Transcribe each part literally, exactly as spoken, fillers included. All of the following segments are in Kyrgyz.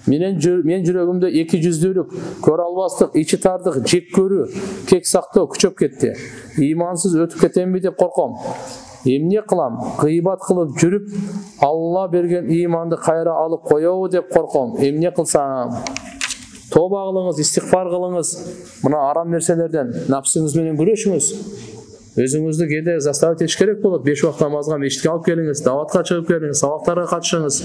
Менен мен жүрөгүмдө эки жүздүүлүк, көрө албастык, ичи тардык, жек көрүү, кек сактоо күчөп кетти. Ыймансыз өтүп кетемби деп корком. Эмне кылам? Гыйбат кылып жүрүп, Алла берген ыйманды кайра алып коёбу деп корком. Эмне кылсам? Тоба кылыңыз, истигфар кылыңыз. Мына арам нерселерден напсыңыз менен күрөшүңүз. Өзүңүздү кээде заставить этиш керек болот. беш убакыт намазга мешитке алып келиңиз, даватка чыгып келиңиз, сабактарга катышыңыз.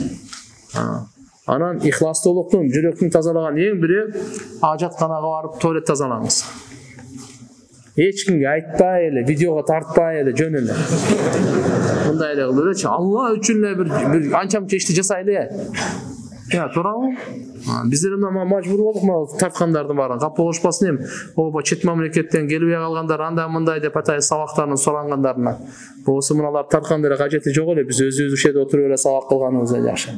Анан ихластуулуктун, жүрөктүн тазалаган эң бири ажатканага барып туалет тазалаңыз. Эч кимге айтпай эле, видеого тартпай эле, жөн эле. Мындай эле кылып элечи, Алла үчүн эле бир бир анча-мынча ишти жасай эле. Я, туурабы? Биздер мына мажбур болдук мына тарткандардын баарын кап болушпасын эми. Ооба чет мамлекеттен келбей калгандар анда мындай деп атай сабактарын сурангандарына. Болсо мыналар тарткандар кажети жок эле, биз өзүбүз ушерде отуруп эле сабак кылганыбыз эле жакшы.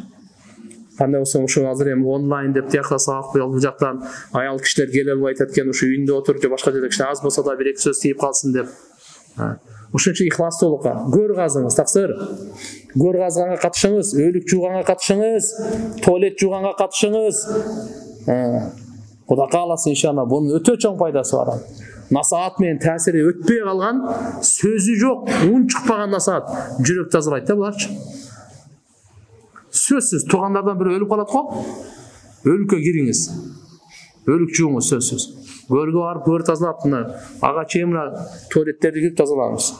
Кандай болсо ушу азыр эми онлайн деп тиякта сабак бул жактан аял кишилер келе албай атат экен, ушу үйүндө отуруп же башка жерде кичине аз болсо да бир эки сөз тийип калсын деп. Ушунча ихластуулукка гөр казыңыз, таксыр. Гөр казганга катышыңыз, өлүк жууганга катышыңыз, туалет жууганга катышыңыз. Кудай кааласа иншалла бунун өтө чоң пайдасы бар. Насаат менен таасири өтпөй калган, сөзү жок, уун чыкпаган насаат жүрөк тазалайт да буларчы. Сөзсүз туугандардан бири өлүп калат го. Өлүккө кириңиз. Өлүк жууңуз сөзсүз. Көргө барып, көр тазалап, ага чейин туалеттерди кирип тазалаңыз.